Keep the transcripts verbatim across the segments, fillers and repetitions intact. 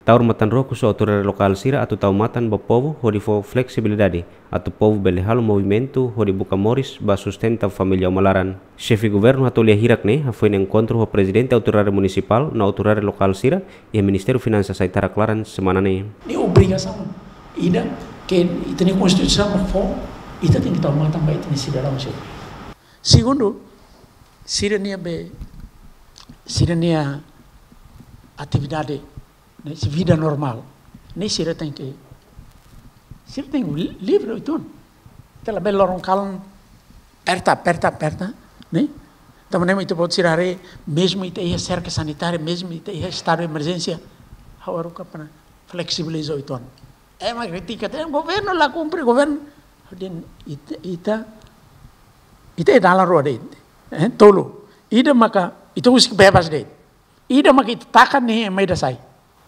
Taur matan-rook husi autoridade lokál sira atu tau matan ba povu hodi fó fleksibilidade atu povu bele halo movimentu hodi buka moris ba sustenta família uma-laran. Xefe governu hato'o lia hirak ne'e hafoin enkontru ho prezidente autoridade munisipál no autoridade lokál sira iha Ministériu Finansas Aitarak laran semana ne'e. Ne'e obrigasaun ida ke ita-nia Konstituisaun fó, ita tenke tau matan ba ita-nia sidadaun sira. Segundu, sira-nia be, sira-nia atividade, ne'e, sira vida normál, ne'e, sira tenke, sira tenke li-, livre uitoan. Ita labele loron kalan aperta, aperta, aperta, ne'e. Tanba ne'e mak ita-boot sira haree, mezmu ita iha serka sanitária, mezmu ita iha estadu de emerjénsia, ha'u haruka para fleksibiliza uitoan. Ema kritika, dehan governu la kumpre, governu. Dehan ita, ita, ita iha dalan rua de'it. Eh, tolu. Ida maka ita husik bebas de'it. Ida maka ita taka ne'e ema ida sai.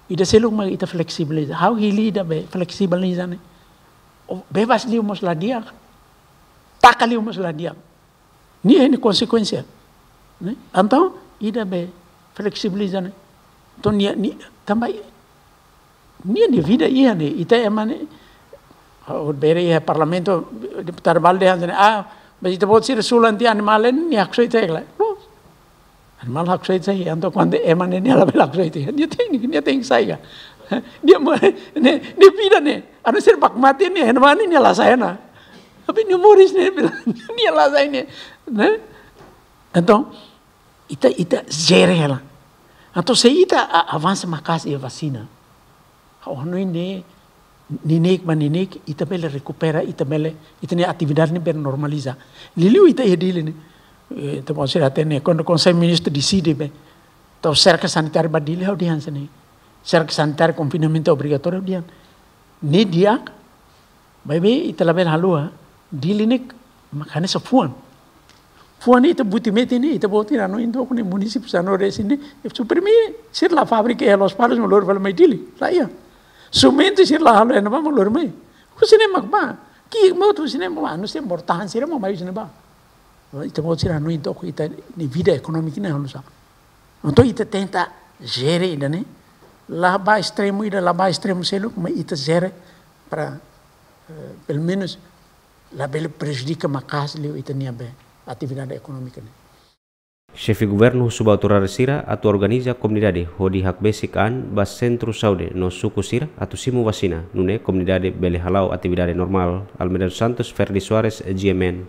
Ida seluk maka ita fleksibiliza. Ha'u hili ida be fleksibiliza ne'e. O, bebas liu mós la di'ak. Taka liu mós la di'ak. Nia iha nia konsekuénsia. Ne'e? Entaun, ida be fleksibiliza ne'e. Entaun, nia, nia, tanba nia, nia vida iha ne'e, ita ema ne'e, ha'u bele iha parlamentu, deputadu balu dehan hanesan ne'e, ah, mas ita-boot sira sulan tiha animál ne'e, nia haksoit tiha lai. No. Animál haksoit tiha, entaun kuandu ema ne'e, nia labele haksoit tiha. Nia tenke, nia tenke sai ka. Nia mo-, ne'e, nia vida ne'e, anu sira baku mate ne'e, ema ne'e, nia la sai ona. Tapi nia moris ne'e, nia la sai ne'e, ne'e? Entaun, ita, ita jere hela. Entaun, se ita a-, avansa maka'as iha vasina, ha'u hanoin ne'e, neineik ba neineik, ita bele rekupera, ita bele, ita-nia atividade ne'e bele normaliza. Liuliu ita iha Dili ne'e, eh, ita-boot sira hatene, kuandu Konsellu Ministru deside be tau serka sanitária ba Dili, ha'u dehan hanesan ne'e. Serka sanitária, konfinamentu obrigatóriu, ha'u dehan. Ne'e di'ak, maibé ita labele haluha, Dili ne'e mak hanesan fuan. Fuan ne'e ita buti metin ne'e, ita-boot sira hanoin took ne'e, munisípiu sanulu-resin ne'e, suprime, sira la'o fábrika iha Lospalos mak lori fali mai Dili, la iha. Simentu sira la halo iha ne'ebá mak lori mai. Husi ne'e mak bá. Ki'ik mós husi ne'e mak bá, no se mortahan sira mak mai husi ne'ebá. Ita-boot sira hanoin took ita-nia vida ekonómika ne'e halo sá. Entaun ita tenta jere ida-ne'e, la ba estremu ida, la ba estremu seluk, mas ita jere para, eh, pelumenus labele prejudika maka'as liu ita-nia be atividade ekonómika ne'e. Xefe governu husu ba autoridade sira atu organiza komunidade hodi hakbesik an ba sentru saúde no suku sira atu simu vasina, nune'e komunidade bele hala'o atividade normál. Almeida dos Santos, Ferdi Soares, G M N.